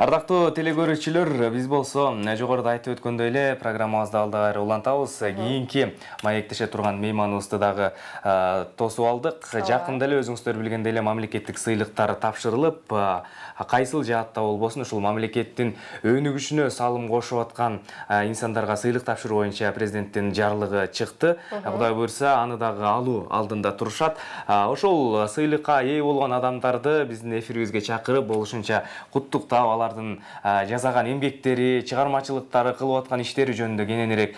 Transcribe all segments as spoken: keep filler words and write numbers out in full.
Ардактуу телекөрүүчүлөр, биз болсо жогоруда айтып өткөндөй эле программабызды алда кайра улантабыз. Кийинки маектеше турган мейманыбызды дагы тосуп алдык. Жакында эле өзүңүздөр билгендей эле мамлекеттик сыйлыктар тапшырылып, кайсыл жаатта болбосун ушул мамлекеттин өнүгүшүнө салым кошуп аткан инсандарга сыйлык тапшыруу боюнча президенттин жарлыгы чыкты. Кудай буйрса, аны дагы алуу алдында турушат. Ошол сыйлыкка ээ болгон адамдарды биздин эфирибизге чакырып, болушунча куттуктап, алардын жасаган эмгектери, чыгармачылыктары, кылып аткан иштери жөнүндө кененирээк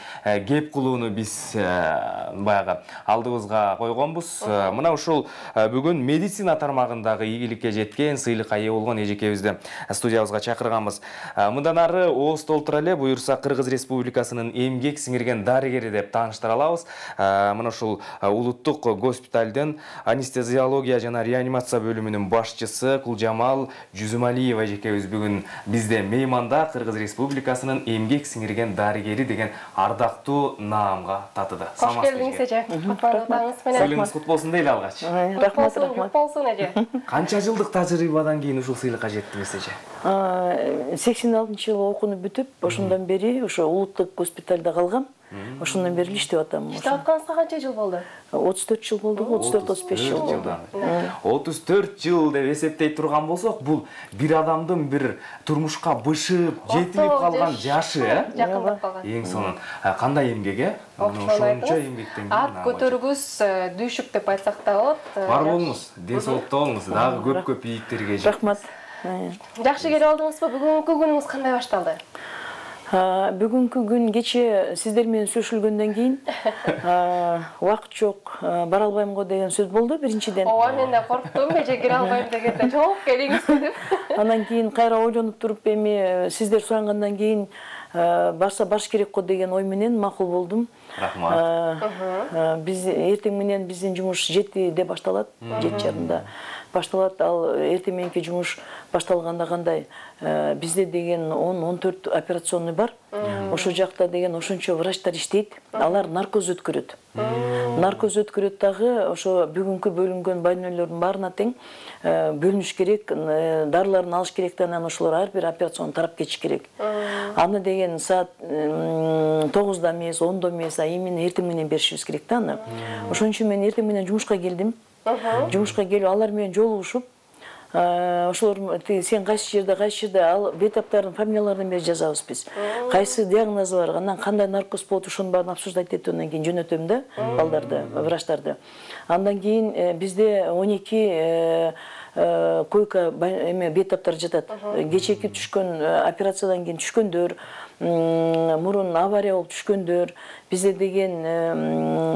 кеп кылууну биз баягы алдыбызга койгонбуз. Мына ушул бүгүн медицина тармагындагы ийгиликке жеткен, сыйлыкка ээ болгон эжекебизди студиябызга чакырганбыз. Мындан ары ооз толтура эле буйрса Кыргыз Республикасынын эмгек сиңирген дарыгери деп тааныштыра алабыз. Мына ушул улуттук госпиталдын анестезиология жана реанимация бөлүмүнүн башчысы Кулжамал Жүзүмалиева эжекебиз бүгүн бизде мейманда. Кыргыз Республикасынын эмгек сиңирген дарыгери деген ардактуу наамга татыды. Кош келдиңиз эже. Сыйлыгыңыз кут болсун дейли алгач. Рахмат, рахмат. Болсун эже. Канча жылдык тажрыйбадан кийин ушул сыйлыкка жеттиңиз эже? сексен алтынчы жылы окууну бүтүп, ошондон бери ошо улуттук госпиталда калгам. Ошондон бери иштеп атам. Иштеп атканыңызга канча жыл болду? отуз төрт жыл болду, отуз төрт отуз беш жыл болду. отуз төрт жыл деп эсептей турган болсок, бул бир адамдын бир турмушка бышып, жетилип калган жашы, э? Жакындап калган. Эң сонун. Кандай эмгек, э? Ошончо эмгектен ат көтөргүс, дүйшүк деп айтсак да болот. Бар болуңуз, ден соолукта болуңуз, дагы көп-көп ийгиликтерге жет. Рахмат. Жакшы келип алдыңызбы? Бүгүнкү күнүңүз кандай башталды? Бүгүнкү күн кече сиздер менен сүйлөшүлгөндөн кийин убакыт жок, бара албайм го деген сөз болду биринчиден. Ооба, мен да корктум, эже кире албайм дегенде жооп келиңиз деп. Андан кийин кайра ойлонуп туруп, эми сиздер сурангандан кийин барса баш керек го деген ой менен макул болдум. Рахмат. Биз эртең менен биздин жумуш жетиде башталат, жети жарымда башталат. Ал эртең мененки жумуш башталганда кандай? Бизде деген он он төрт операционный бар. Ошол жакта деген ошончо врачтар иштейт. Алар наркоз өткөрөт. Наркоз өткөрөт дагы ошо бүгүнкү бөлүнгөн больнойлордун баарына тең бөлүнүш керек, дарыларын алыш керек да, анан ошолор ар бир операцион тарап кетиш керек. Аны деген саат тогузда эмес, ондо эмес, а именно эртең менен беришибиз керек да аны. Ошон үчүн мен эртең менен жумушка келдим. Жумушка келип алар менен жолугушуп, ошолор сен кайсы жерде, кайсы жерде ал бетаптардын фамилияларын бери жазабыз биз. Кайсы диагнозу бар, анан кандай наркоз болот, ошонун баарын обсуждать этип андан кийин жөнөтөм да балдарды, врачтарды. Андан кийин бизде он эки койка эме бетаптар жатат. Кечээки түшкөн операциядан кийин түшкөндөр, мурун авария болуп түшкөндөр, бизде деген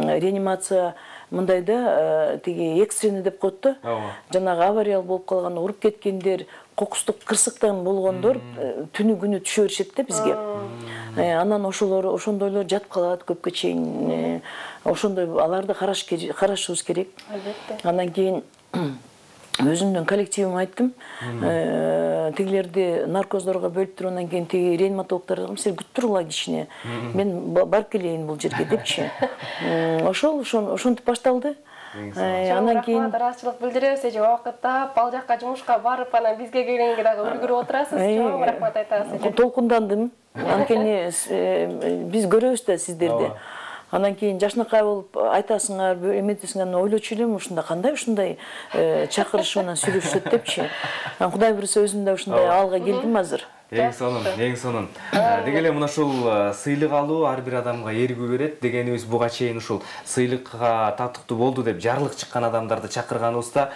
реанимация мындайда тиги экстренный деп коет да. Жанагы авария болуп калган, уруп кеткендер, кокустук кырсыктан болгондор түнү күнү түшө беришет да бизге. Анан ошолор ошондойлор жатып калат көпкө чейин. Ошондой аларды карашыбыз керек. Андан кийин өзүмдүн коллективиме айттым, тигилерди наркоздорго бөлүп туруп, андан кийин тиги реаниматологдорго силер күтүп туруңла кичине, мен барып келейин бул жерге депчи. Ошол ошентип башталды. Андан кийин ыраазычылык билдиребиз, эже убакытта ал жакка жумушка барып, анан бизге келгенге дагы үлгүрүп отурасыз. Чоң рахмат айтабыз эже. Толкундандым. Анткени биз көрөбүз да сиздерди. Андан кийин жашынакай болуп айтасыңар, эметесиңер, ойлочу элем, ушунда кандай ушундай чакырышып анан сүйлөшөт депчи. Кудай буйрса өзүм да ушундай абалга келдим азыр. Эң сонун, эң сонун. Деги эле мына ушул сыйлык алуу ар бир адамга эргүү берет дегенибиз, буга чейин ушул сыйлыкка татыктуу болду деп жарлык чыккан адамдарды чакырганыбызда,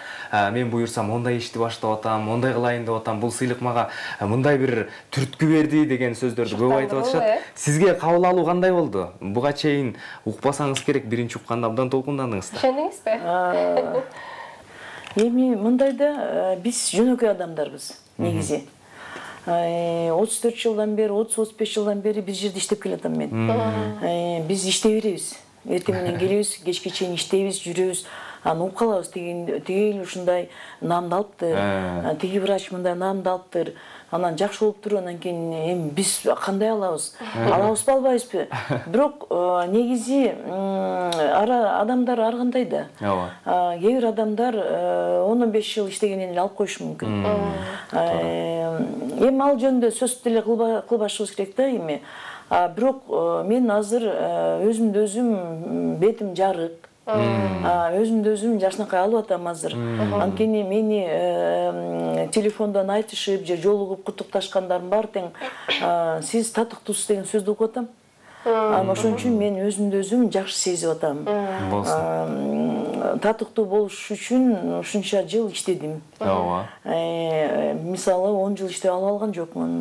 мен буйрсам мондай ишти баштап атам, мондай кылайын деп атам, бул сыйлык мага мындай бир түрткү берди деген сөздөрдү көп айтып атышат. Сизге кабыл алуу кандай болду? Буга чейин укпасаңыз керек, биринчи укканда абдан толкундандыңыз да. Ишендиңизби? Эми мындайда биз жөнөкөй адамдарбыз негизи. отуз төрт жылдан бери, отуз отуз беш жылдан бери бир жерде иштеп келатам мен. Биз иштей беребиз. Эртең менен келебиз, кечке чейин иштейбиз, жүрөбүз. Аны угуп калабыз, тиги ушундай наамды алыптыр, тиги врач мындай наамды алыптыр. анан жакшы болуп туруп анан кийин эми биз кандай алабыз, алабызбы албайбызбы? Бирок негизи ара адамдар ар кандай да. Ооба. Кээ бир адамдар он он беш жыл иштегенден эле алып коюшу мүмкүн. Эми ал жөнүндө сөз деле кылбашыбыз керек да эми. Бирок мен азыр өзүмдү өзүм бетим жарык. Өзүмдү өзүм жакшынакай алып атам азыр. Анткени мени телефондон айтышып же жолугуп куттукташкандарым бар тең сиз татыктуусуз деген сөздү угуп атам. Ошон үчүн мен өзүмдү өзүм жакшы сезип атам. Татыктуу болуш үчүн ушунча жыл иштедим. Ооба. Мисалы он жыл иштеп алып алган жокмун.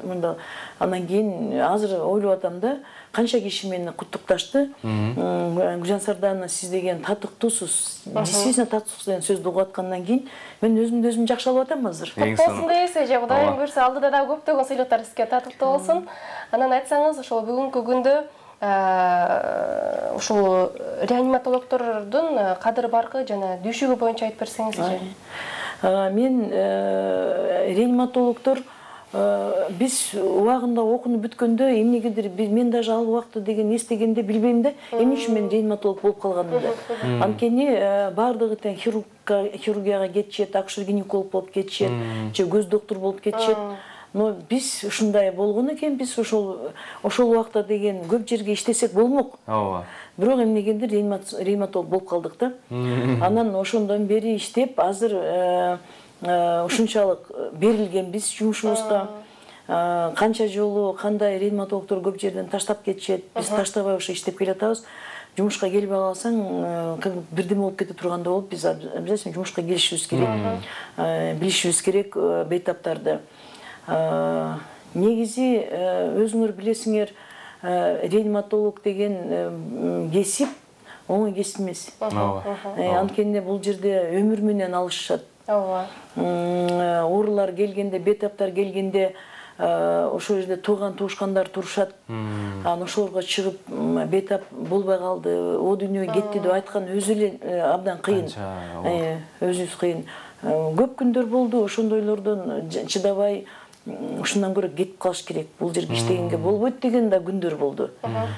Мында андан кийин азыр ойлоп атам да, канча киши мени куттукташты. Гүлжан Сардановна, сиз деген татыктуусуз, действительно татыктуусуз деген сөздү угуп аткандан кийин мен өзүмдү өзүм жакшы алып атам азыр. Болсун дейсиз же, Кудайым буйрса алдыда да көптөгөн сыйлыктар сизге татыктуу болсун. Анан айтсаңыз, ошол бүгүнкү күндө ушул реаниматологдордун кадыр баркы жана düşүгү боюнча айтып берсеңиз же. Мен реаниматологдор биз убагында окунуп бүткөндө эмнегедир мен даже ал убакта деген эстегенде билбейм да, эмне үчүн мен реаниматолог болуп калганымды. Анткени баардыгы тең хирургияга кетишет, акушер-гинеколог болуп кетишет, же көз доктор болуп кетишет. Но биз ушундай болгон экен, биз ошол ошол убакта деген көп жерге иштесек болмок. Ооба. Бирок эмнегендир реаниматолог болуп калдык да. Анан ошондон бери иштеп, азыр ушунчалык берилгенбиз жумушубузга. Канча жолу кандай реаниматологдор көп жерден таштап кетишет, биз таштабай ошо иштеп келатабыз. Жумушка келбей калсаң, бирдеме болуп кете турганда болуп, биз обязательно жумушка келишибиз керек. Билишибиз керек бейтаптарды. Негизи өзүңөр билесиңер, реаниматолог деген кесип оңой кесип эмес. Анткени бул жерде өмүр менен алышышат. Оорулар келгенде, бейтаптар келгенде ошол жерде тууган туушкандар турушат. Анан ошолорго чыгып бейтап болбой калды, о дүйнөгө кетти деп айткан өзү эле абдан кыйын. Өзүбүз кыйын. Көп күндөр болду, ошондойлордон чыдабай ушундан көрө кетип калыш керек. Бул жерге иштегенге болбойт деген да күндөр болду.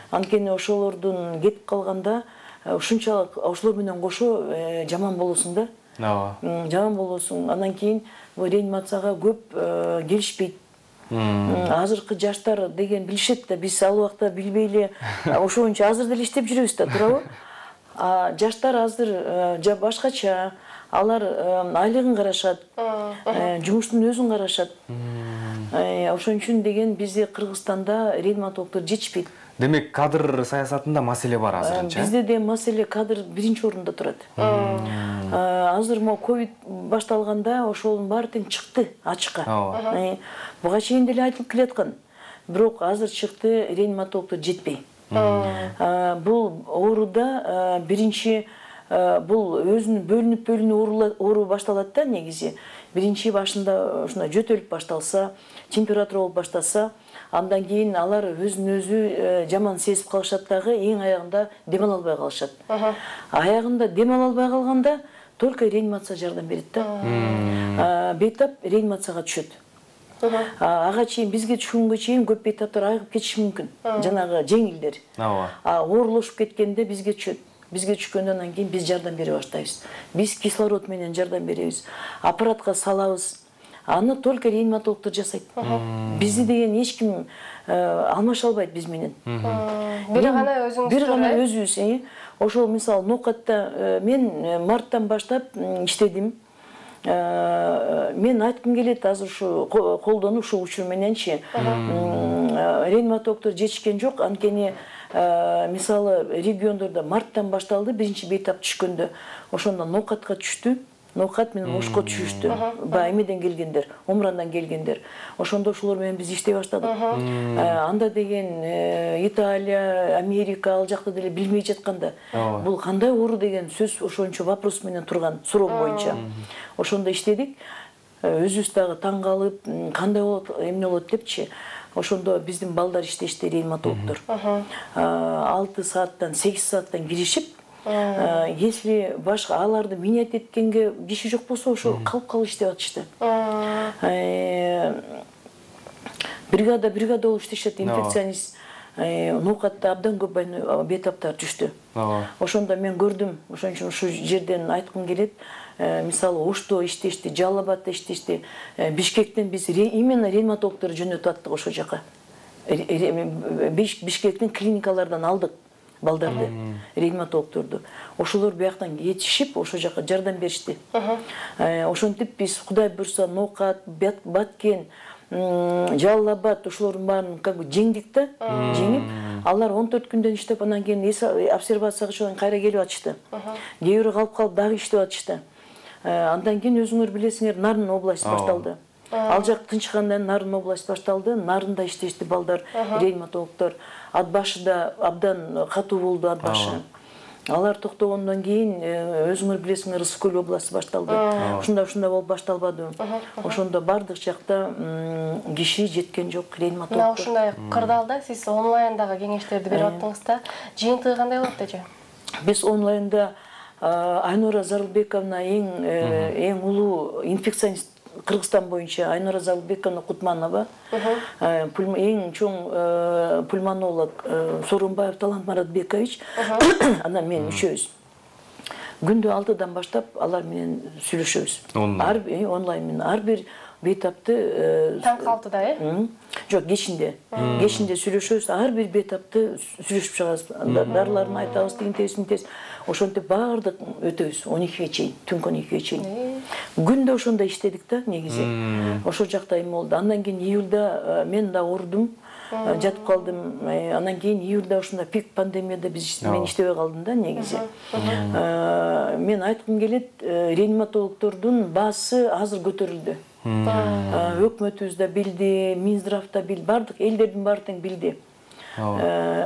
Анткени ошолордун кетип калганда ушунчалык ошолор менен кошо жаман болосуң да. Жаман болосуң. Андан кийин бул реанимацияга көп келишпейт. Азыркы жаштар деген билишет да, биз ал убакта билбей эле ошончо азыр деле иштеп жүрөбүз да, туурабы? Жаштар азыр башкача, алар айлыгын карашат, жумуштун өзүн карашат. Ошон үчүн деген бизде Кыргызстанда реаниматологдор жетишпейт. Демек, кадр саясатында маселе бар азырынча? Бизде де маселе кадр биринчи орунда турат. Азыр мо ковид башталганда ошонун баары тең чыкты ачыкка. Буга чейин деле айтылып келаткан. Бирок азыр чыкты, реаниматологдор жетпей. Бул ооруда биринчи бул өзүнүн бөлүнүп-бөлүнүп оору башталат да негизи. Биринчи башында ушундай жөтөлүп башталса, температура болуп баштаса, андан кийин алар өзүн өзү жаман сезип калышат дагы, эң аягында дем ала албай калышат. Аягында дем ала албай калганда только реанимация жардам берет да. Бейтап реанимацияга түшөт. Ага чейин бизге түшкөнгө чейин көп бейтаптар айыгып кетиши мүмкүн. Жанагы жеңилдер. Оорулушуп кеткенде бизге түшөт. Бизге түшкөндөн анан кийин биз жардам бере баштайбыз. Биз кислород менен жардам беребиз. Аппаратка салабыз. Аны только реаниматологдор жасайт. Бизди деген эч ким алмаша албайт биз менен. Бир гана өзүңүз. Бир гана өзүбүз. Ошол мисалы ноокатта мен марттан баштап иштедим. Мен айткым келет азыр ушу колдонуп ушул учур мененчи реаниматологдор жетишкен жок. Анткени мисалы региондордо марттан башталды, биринчи бейтап түшкөндө ошондо ноокатка түштү. Ноокат менен ошко түшүштү. Баягы эмеден келгендер, Омрандан келгендер. Ошондо ошолор менен биз иштей баштадык. Анда деген Италия, Америка ал жакта деле билмей жатканда, бул кандай оору деген сөз ошончо вопрос менен турган, суроо боюнча. Ошондо иштедик. Өзүбүз дагы таң калып, кандай болот, эмне болот депчи. Ошондо биздин балдар иштешти, реаниматологдор. алты сааттан, сегиз сааттан киришип, если башка аларды минет эткенге киши жок болсо, ошо калып калып иштеп атышты. бригада бригада болуп иштешет, инфекционист. Ноокатта абдан көп бейтаптар түштү. Ошондо мен көрдүм, ошон үчүн ушул жерден айткым келет. Мисалы, Ошто иштешти, Жалал Абадта иштешти. Бишкектен биз именно реаниматологдор жөнөтүп аттык ошол жака. Бишкектин клиникалардан алдык балдарды, реаниматологдорду. Ошолор бияктан жетишип, ошол жака жардам беришти. Ошентип биз Кудай буйрса Ноокат, Баткен, Жалал Абад ошолордун баарын как бы жеңдик да, жеңип, алар он төрт күндөн иштеп, анан кийин обсервацияга чыгып кайра келип атышты. Кээ бирөө калып калып дагы иштеп атышты. Андан кийин өзүңөр билесиңер, Нарын область башталды. Ал жак тынчыгандан Нарын область башталды. Нарында иштешти балдар, реаниматологдор. Ат башы да абдан катуу болду, ат башы. Алар токтогондон кийин өзүңөр билесиңер, Ысык-Көл областы башталды. Ушунда ушунда болуп башталбады. Ошондо бардык жакта киши жеткен жок, реаниматологдор. Мына ушундай кырдаалда сиз онлайндагы кеңештерди берип аттыңыз да, жыйынтыгы кандай болот эже? Биз онлайнда Айнура Зарылбековна эң эң улуу инфекционист Кыргызстан боюнча Айнура Зарылбековна Кутманова, эң чоң пульмонолог Сооронбаев Талант Маратбекович, анан мен үчөөбүз. Күндө алтыдан баштап алар менен сүйлөшөбүз. Онлайн менен ар бир бейтапты таңкы алтыда, э? Жок, кечинде. Кечинде сүйлөшөбүз, ар бир бейтапты сүйлөшүп чыгабыз. Дарыларын айтабыз, тигинтебиз, мынтебиз. Ошентип баардык өтөбүз он экиге чейин, түнкү он экиге чейин. Күндө ошондо иштедик да, негизи. Ошол жакта эме болду. Андан кийин июлда мен да оорудум, жатып калдым. Андан кийин июлда ошондо пик пандемияда биз мен иштебей калдым да, негизи. Мен айткым келет, реаниматологдордун баасы азыр көтөрүлдү. Өкмөтүбүз да билди, Минздрав да билди, бардык элдердин баары тең билди.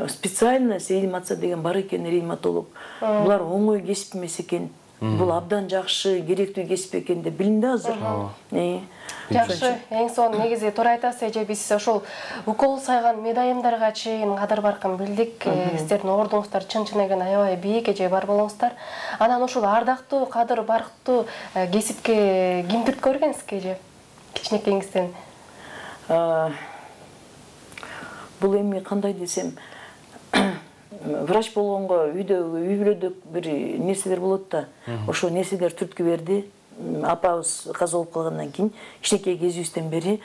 Специальность реанимация деген бар экен, реаниматолог. Булар оңой кесип эмес экен. Бул абдан жакшы, керектүү кесип экен деп билинди азыр. Жакшы, эң сонун негизи туура айтасыз эже, биз ошол укол сайган медайымдарга чейин кадыр баркын билдик. Сиздердин ордуңуздар чын-чын эген аябай бийик, эже, бар болуңуздар. Анан ошол ардактуу, кадыр барктуу кесипке ким түрткү көргөнсүз эже? Кичинекейиңизден. Бул эми кандай десем, врач болгонго үйдө үй бүлөдө бир нерселер болот да. Ошол нерселер түрткү берди. Апабыз каза болуп калгандан кийин кичинекей кезибизден бери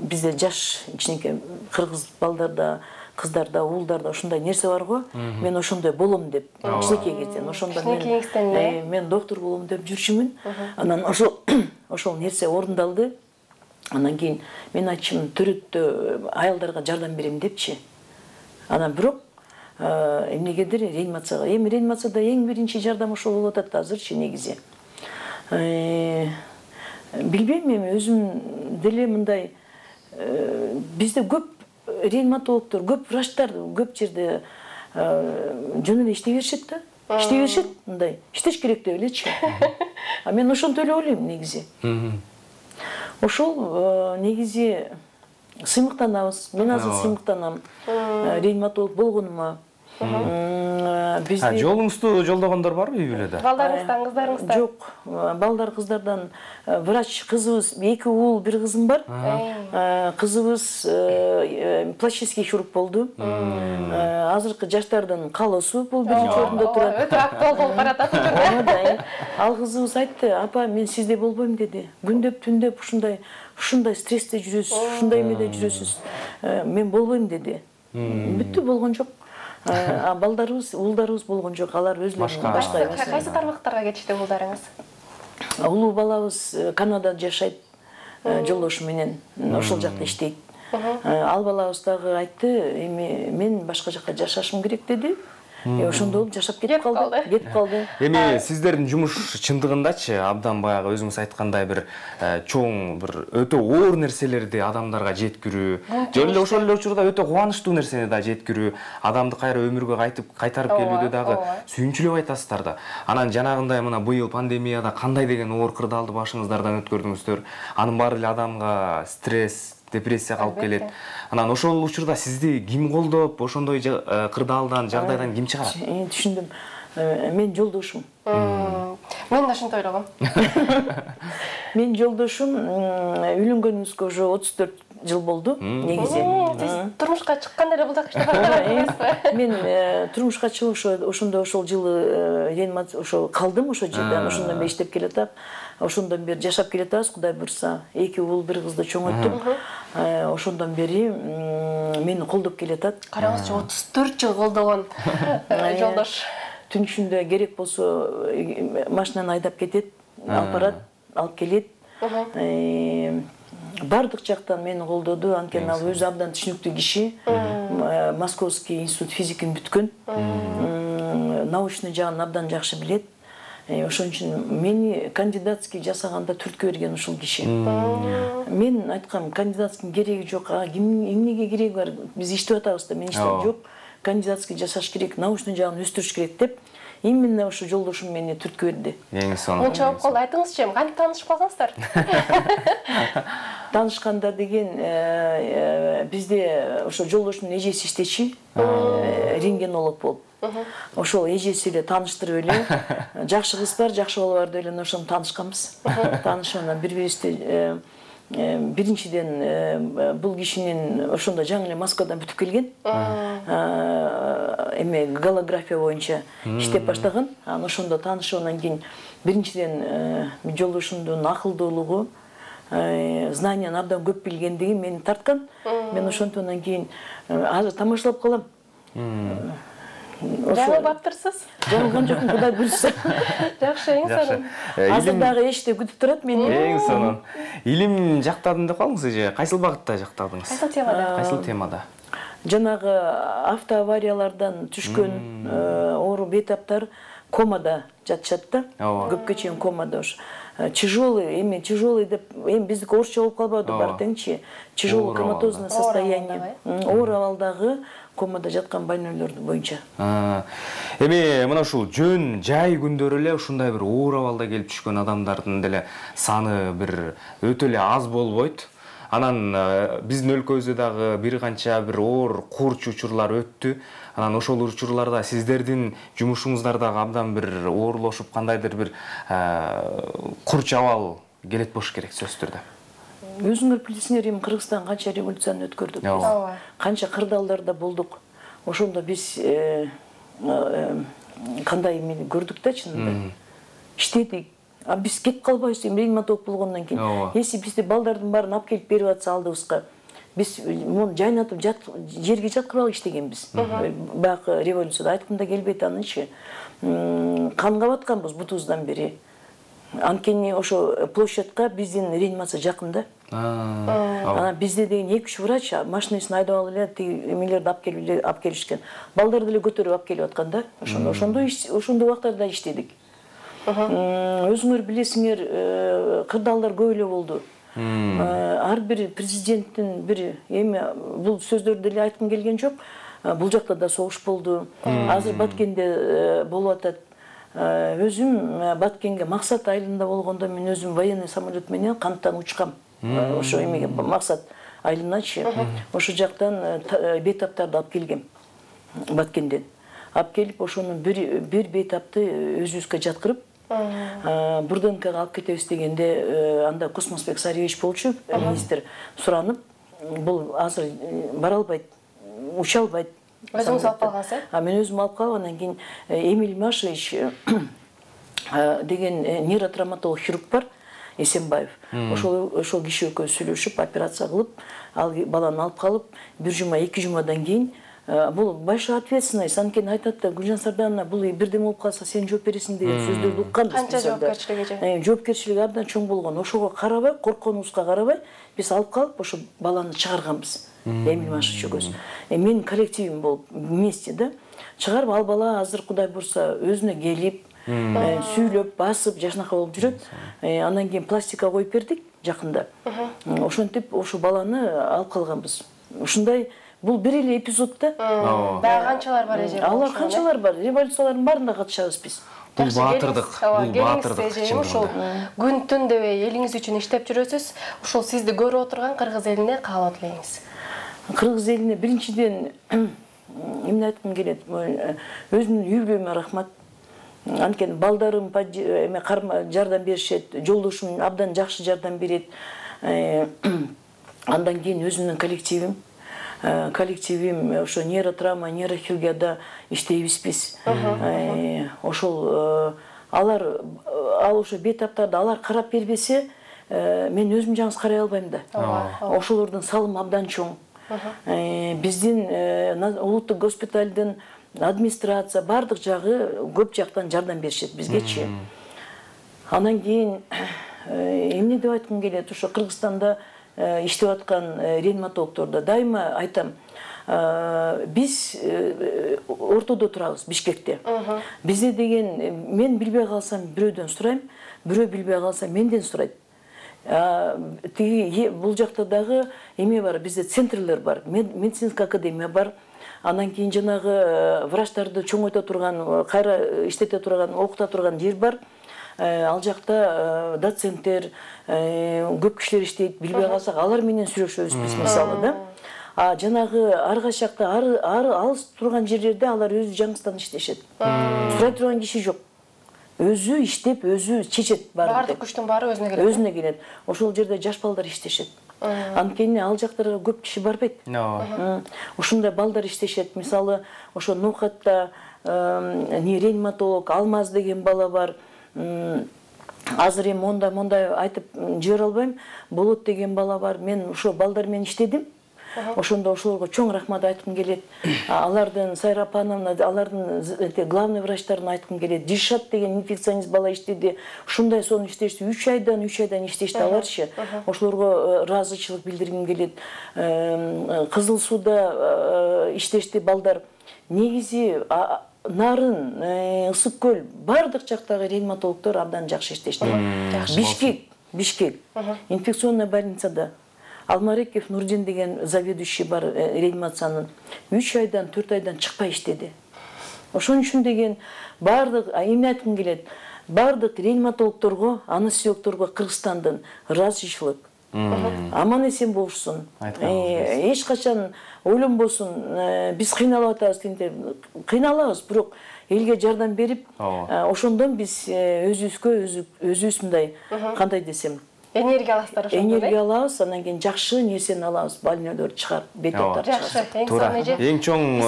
бизде жаш кичинекей кыргыз балдарда, кыздарда, уулдарда ушундай нерсе бар го. Мен ошондой болом деп, кичинекей кезден ошондо мен мен доктор болом деп жүрчүмүн. Анан ошол ошол нерсе орундалды. Анан кийин мен айтчым, төрөттө аялдарга жардам берем депчи. Анан бирок эмнегедир реанимацияга, эми реанимацияда эң биринчи жардам ошол болуп атат азырчы негизи. Билбейм, эми өзүм деле мындай бизде көп реаниматологдор, көп врачтар көп жерде жөн эле иштей беришет да. Иштей беришет, мындай. Иштеш керек деп элечи. А мен ошонтип эле ойлойм негизи. Ошол негизи сыймыктанабыз. Мен азыр сыймыктанам. Реаниматолог болгонума. Жолуңузду жолдогондор барбы үй бүлөдө? Балдарыңыздан, кыздарыңыздан? Жок, балдар кыздардан врач кызыбыз, эки уул, бир кызым бар. Кызыбыз пластический хирург болду. Азыркы жаштардын калоосу бул биринчи орунда турат. Өтө актуал болуп баратат. Ал кызыбыз айтты, апа, мен сиздей болбойм деди. Күндөп түндөп ушундай ушундай стрессте жүрөсүз, ушундай эмеде жүрөсүз. Мен болбойм деди. Бүттү, болгон жок. А балдарыбыз, уулдарыбыз болгон жок, алар өзлөрүнүн башка эмес. Кайсы тармактарга кетишти уулдарыңыз? Улуу балабыз Канадада жашайт, жолдошу менен ошол жакта иштейт. Ал балабыз дагы айтты, эми мен башка жакка жашашым керек деди. Ошондо болуп жашап кетип калды, кетип калды. Эми сиздердин жумуш чындыгындачы абдан баягы өзүңүз айткандай бир чоң, бир өтө оор нерселерди адамдарга жеткирүү, жөн эле ошол эле учурда өтө кубанычтуу нерсени да жеткирүү, адамды кайра өмүргө кайтып кайтарып келүүдө дагы сүйүнчүлүп айтасыздар да. Анан жанагындай мына быйыл пандемияда кандай деген оор кырдаалды башыңыздардан өткөрдүңүздөр, анын баары эле адамга стресс, депрессия калып келет. Анан ошол учурда сизди ким колдоп, ошондой кырдаалдан, жагдайдан ким чыгарат? Түшүндүм. Мен жолдошум. Мен да ошентип ойлогом. Мен жолдошум үйлөнгөнүбүзгө уже отуз төрт жыл болду негизи. Сиз турмушка чыкканда эле бул жакка иштеп баргансызбы? Мен турмушка чыгып ошондо ошол жылы реанимация ошо калдым ошол жерде. Ошондон бери иштеп келатам. Ошондон бери жашап келатабыз, Кудай буйрса. эки уул, бир кызды чоңойттук. Ошондон бери мени колдоп келатат. Караңызчы, отуз төрт жыл колдогон жолдош. Түн ичинде керек болсо машинаны айдап кетет, алып барат, алып келет. Бардык жактан мени колдоду. Анткени ал өзү абдан түшүнүктүү киши. Московский институт физикин бүткөн. Научный жагын абдан жакшы билет. Ошон үчүн мени кандидатский жасаганда түрткө берген ушул киши. Мен айткам, кандидатский кереги жок. Эмнеге кереги бар? Биз иштеп атабыз да, мен иштеп жок. Кандидатский жасаш керек, научный жагын өстүрүш керек деп. Именно ошо жолдошум мени түрткө берди. Эң сонун. Онча болуп калды. Айтыңызчы, кантип таанышып калгансыздар? Таанышканда деген бизде ошо жолдошумдун эжеси иштечи, рентгенолог болуп. Ошол эжеси эле тааныштырып эле, жакшы кыз бар, жакшы бала бар деп эле ошону таанышканбыз. Таанышып анан бири-бирибизди биринчиден бул кишинин ошондо жаңы эле Москвадан бүтүп келген. Эме голография боюнча иштеп баштаган. Анан ошондо таанышып анан кийин биринчиден жолдошумдун акылдуулугу, знанияны абдан көп билгендиги мени тарткан. Мен ошентип анан кийин азыр тамашалап калам. Жаңылып аптырсыз? Жаңылган жокмун, Кудай буйрса. Жакшы, эң сонун. Азыр дагы эшикте күтүп турат мени. Эң сонун. Илим жактадым деп калдыңыз эже. Кайсыл багытта жактадыңыз? Кайсыл темада? Кайсыл темада? Жанагы автоавариялардан түшкөн оору бейтаптар комада жатышат да. Көпкө чейин комада уш. Тяжелый, эми тяжелый деп, эми биздики орусча болуп калбады бар теңчи. Тяжелый коматозное состояние. Оор абалдагы комада жаткан больнойлор боюнча. Эми мына ушул жөн жай күндөрү эле ушундай бир оор абалда келип түшкөн адамдардын деле саны бир өтө эле аз болбойт. Анан биздин өлкөбүздө дагы бир канча бир оор курч учурлар өттү. Анан ошол учурларда сиздердин жумушуңуздар дагы абдан бир оорлошуп, кандайдыр бир курч абал келет болуш керек сөзсүз түрдө. Өзүңөр билесиңер, эми Кыргызстан канча революцияны өткөрдүк. Канча кырдаалдарда болдук. Ошондо биз кандай эмени көрдүк да чынында. Иштедик. А биз кетип калбайбыз, эми реаниматолог болгондон кийин. Если бизде балдардын баарын алып келип берип атса алдыбызга, биз муну жайнатып жерге жаткырып алып иштегенбиз. Баягы революцияда айткым да келбейт анычы. Канга батканбыз бутубуздан бери. Анткени ошо площадька биздин реанимация жакын да. Анан бизде деген эки үч врач машинасын айдап алып эле тиги эмелерди алып келип алып келишкен. Балдарды эле көтөрүп алып келип аткан да. Ошондо ошондо ошондой убактарда иштедик. Өзүңөр билесиңер, кырдаалдар көп эле болду. Ар бир президенттин бир эми бул сөздөрдү эле айткым келген жок. Бул жакта да согуш болду. Азыр Баткенде болуп атат. Өзүм Баткенге Максат айылында болгондо мен өзүм военный самолет менен канаттан учкам. Ошо эмеге Максат айылыначы. Ошо жактан бейтаптарды алып келгем. Баткенден. Алып келип ошонун бир бир бейтапты өзүбүзгө жаткырып, Бурденкага алып кетебиз дегенде, анда Космосбек Сарьевич болчу, министр суранып, бул азыр бара албайт, уча албайт. Өзүңүз алып калгансыз? Мен өзүм алып калып, анан кийин Эмиль Машевич деген нейротравматолог хирург бар, Эсенбаев. Ошол ошол киши экөө сүйлөшүп, операция кылып, ал баланы алып калып, бир жума, эки жумадан кийин бул большая ответственность. Анткени айтат да, Гүлжан Сардановна, бул бирдеме болуп калса сен жооп бересиң деген сөздөрдү укканбыз. Канча жоопкерчилиги? Жоопкерчилиги абдан чоң болгон. Ошого карабай, коркконубузга карабай, биз алып калып, ошо баланы чыгарганбыз. Эмиль Машевич экөөбүз. Менин коллективим болуп вместе да. Чыгарып ал бала азыр Кудай буйрса өзүнө келип, сүйлөп, басып, жашынака болуп жүрөт. Андан кийин пластика коюп бердик жакында. Ошентип ошо баланы алып калганбыз. Ушундай бул бир эле эпизод да. Дагы канчалар бар эже? Алар канчалар бар. Революциялардын баарында катышабыз биз. Бул баатырдык, бул баатырдык. Ошол күн түн дебей элиңиз үчүн иштеп жүрөсүз. Ошол сизди көрүп отурган кыргыз элине каалоо тилейбиз. Кыргыз элине биринчиден эмне айткым келет? Өзүмдүн үй бүлөмө рахмат. Анткени балдарым жардам беришет, жолдошум абдан жакшы жардам берет. Андан кийин өзүмдүн коллективим коллективим ошо нейротравма, нейрохирургияда иштейбиз биз. Ошол алар ал ошо бейтаптарды алар карап бербесе, мен өзүм жалгыз карай албайм да. Ошолордун салымы абдан чоң. Биздин улуттук госпиталдын администрация бардык жагы көп жактан жардам беришет бизгечи. Анан кийин эмне деп айткым келет, ошо Кыргызстанда иштеп аткан реаниматологдордо дайыма айтам, биз ортодо турабыз, Бишкекте. Бизде деген мен билбей калсам бирөөдөн сурайм, бирөө билбей калса менден сурайт. Тиги бул жакта дагы эме бар, бизде центрлер бар, медицинская академия бар. Анан кийин жанагы врачтарды чоңойто турган, кайра иштете турган, окута турган жер бар. Ал жакта доценттер, көп кишилер иштейт, билбей калсак алар менен сүйлөшөбүз биз мисалы да. А жанагы ар кайчакта ар алыс турган жерлерде алар өзү жаңысынан иштешет. Сурай турган киши жок. Өзү иштеп, өзү чечет баарын. Бардык күчтүн баары өзүнө келет. Өзүнө келет. Ошол жерде жаш балдар иштешет. Анткени ал жактарга көп киши барбайт. Ушундай балдар иштешет. Мисалы, ошо Ноокатта реаниматолог Алмаз деген бала бар. Азыр эми мондай мондай айтып жибере албайм. Болот деген бала бар. Мен ошо балдар менен иштедим. Ошондо ошолорго чоң рахмат айткым келет. Алардын Сайра апановна, алардын главный врачтарын айткым келет. Дишат деген инфекционист бала иштеди. Ушундай сонун иштешти. үч айдан үч айдан иштешти аларчы. Ошолорго ыраазычылык билдиргим келет. Кызыл Сууда иштешти балдар. Негизи Нарын, Ысык көл, бардык жактагы реаниматологдор абдан жакшы иштешти. Бишкек, Бишкек, инфекционный больницада Алмареков Нурдин деген заведующий бар реанимациянын үч айдан төрт айдан чыкпай иштеди. Ошон үчүн деген бардык эмне айткым келет, бардык реаниматологдорго, анестезиологдорго Кыргызстандын ыраазычылык. Аман эсен болушсун. Эч качан ойлонбосун, биз кыйналып атабыз дегенде, кыйналабыз, бирок элге жардам берип, ошондон биз өзүбүзгө өзүбүз мындай, кандай десем, энергия аласыздар ошондо. Энергия алабыз, анан кийин жакшы нерсени алабыз, больнойлорду чыгарып, бетоптарды чыгарып. Туура. Эң чоң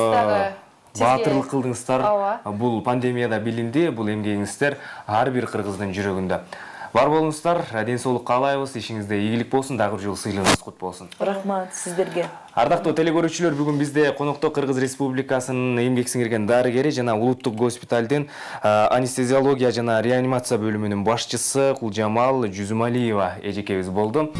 баатырлык кылдыңыздар. Бул пандемияда билинди, бул эмгегиңиздер ар бир кыргыздын жүрөгүндө. Бар болуңуздар, ден соолук каалайбыз, ишиңизде ийгилик болсун, дагы бир жолу сыйлыгыңыз кут болсун. Рахмат сиздерге. Ардактуу телекөрүүчүлөр, бүгүн бизде конокто Кыргыз Республикасынын эмгек сиңирген дарыгери жана улуттук госпиталдын анестезиология жана реанимация бөлүмүнүн башчысы Кулжамал Жүзүмалиева эжекебиз болду.